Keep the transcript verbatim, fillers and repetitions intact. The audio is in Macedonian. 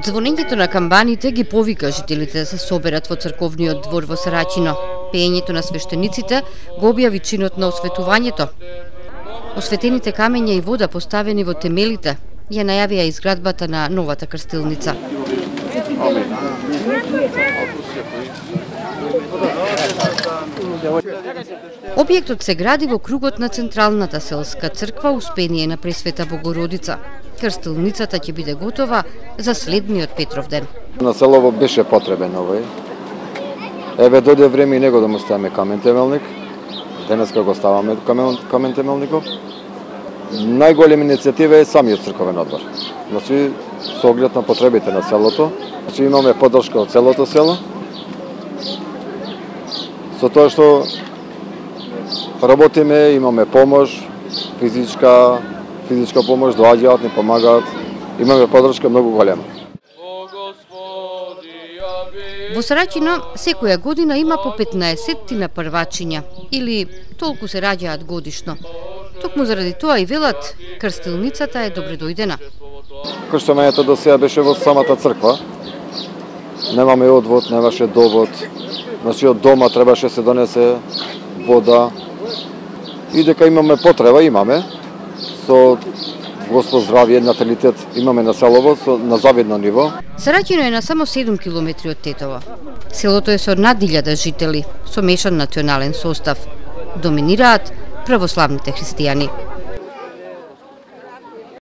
Звонењето на камбаните ги повика жителите да се соберат во црковниот двор во Сарачино. Пеењето на свештениците го објави чинот на осветувањето. Осветените камења и вода поставени во темелите ја најавија изградбата на новата крстилница. Објектот се гради во кругот на Централната селска црква Успение на Пресвета Богородица. Крстилницата ќе биде готова за следниот Петровден. На селово беше потребен овој. Еве дојде време и него да му ставаме камен темелник. Денеска го ставаме камен, камен темелников. Најголема иницијатива е самиот црковен одбор. Значи, со оглед на потребите на селото, значи имаме поддршка од целото село. Со тоа што работиме, имаме помош, физичка, физичка помош, доаѓаат, ни помагаат. Имаме поддршка многу голема. Во Сарачино секоја година има по петнаесеттина првачиња, или толку се раѓаат годишно. Токму заради тоа и велат, крстилницата е добредојдена. Крштувањето до сега беше во самата црква. Немаме одвод, немаше довод. Значи од дома требаше се донесе вода. И дека имаме потреба, имаме. Со Господ здравје, наталитет имаме на селово на завидно ниво. Сарачино е на само седум километри од Тетово. Селото е со над илјада жители, со мешан национален состав. Доминираат православните христијани.